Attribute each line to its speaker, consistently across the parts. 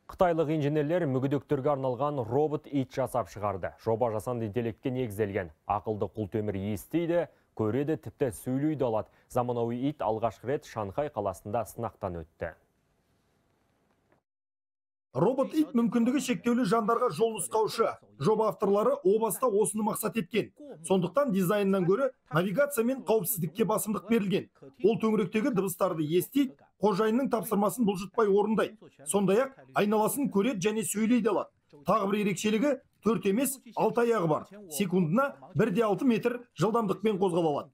Speaker 1: Қытайлық инженерлер мүгедектерге арналған робот ит жасап шығарды. Жоба жасанды интеллектке негізделген. Ақылды құлтемір естиді, көреді, тіпті сөйлейді алады. Заманауи ит алғашқы рет Шанхай қаласында сынақтан өтті.
Speaker 2: Робот ит мүмкіндігі шектеулі жандарға жол нұсқаушы. Жоба авторлары о баста осыны мақсат еткен. Сондықтан дизайннан гөрі навигация мен қауіпсіздікке басымдық берілген. Ол төңіректегі дыбыстарды естиді, қожайынның тапсырмасын бұлжытпай орындайды. Сондай-ақ айналасын көреді және сөйлейді алады. Тағы бір ерекшелігі 4 емес 6 аяғы бар. Секундына 1,6 метр жылдамдықпен қозғала алады.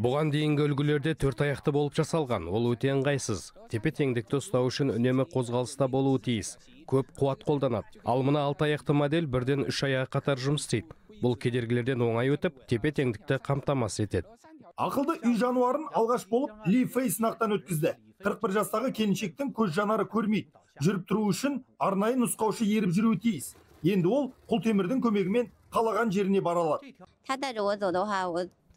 Speaker 3: Бұған дейінгі үлгілерде 4 аяқты болып жасалған. Ол өте ыңғайсыз. Тепе-теңдікті ұстау үшін үнемі қозғалыста болуы тиіс. Көп қуат қолданады. Ал мына 6 аяқты модель бірден 3 аяғы қатар жұмыс істейді. Бұл кедергілерден оңай өтіп, тепе-теңдікті қамтамасыз етеді.
Speaker 2: Ақылды үй жануарын алғаш болып Ли Фэй сынақтан өткізді. 41 жастағы келіншектің көз жанары көрмейді. Жүріп тұру үшін арнайы нұсқаушы еріп жүруі тиіс. Енді ол құлтемірдің көмегімен қалаған жеріне бара алады.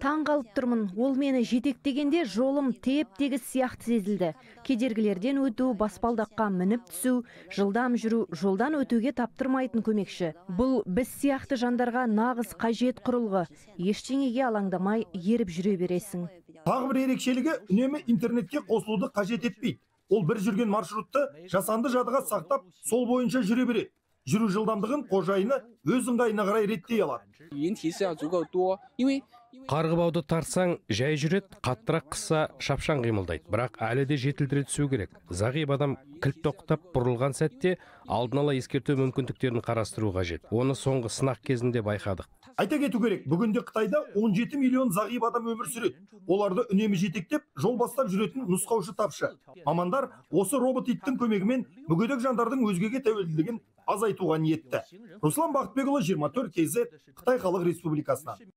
Speaker 4: Таң қалып тұрмын, ол мені жетектегенде жолым теп-тегіс сияқты сезілді. Кедергілерден өту, баспалдаққа мініп түсу, жылдам жүру, жолдан өтуге таптырмайтын көмекші. Бұл біз сияқты жандарға нағыз қажет құрылғы. Ештеңеге алаңдамай еріп жүре бересің.
Speaker 2: Тағы бір ерекшелігі үнемі интернетке қосылуды қажет етпейді. Ол бір жүрген маршрутты жасанды жадыға сақтап, сол бойынша жүре береді. Жүру жылдамдығын қожайыны өз ыңғайына қарай реттей алады.
Speaker 3: Қарғыбауды тартсаң, жай жүреді, қаттырақ қысса шапшаң қимылдайды. Бірақ әлі де жетілдіре түсу керек. Зағип адам кілт тоқтап бұрылған сәтте алдын ала ескерту мүмкіндіктерін қарастыру қажет. Оны соңғы сынақ кезінде байқадық.
Speaker 2: Айта кету керек, бүгінде Қытайда 17 миллион зағип адам өмір сүреді. Оларды үнемі жетектеп, жол бастап жүретін нұсқаушы тапшы. Мамандар осы робот иттің көмегімен мүгедек жандардың өзгеге тәуелділігін азайтуға ниетті. Руслан Бақытбекұлы, 24 KZ, Қытай Халық Республикасынан.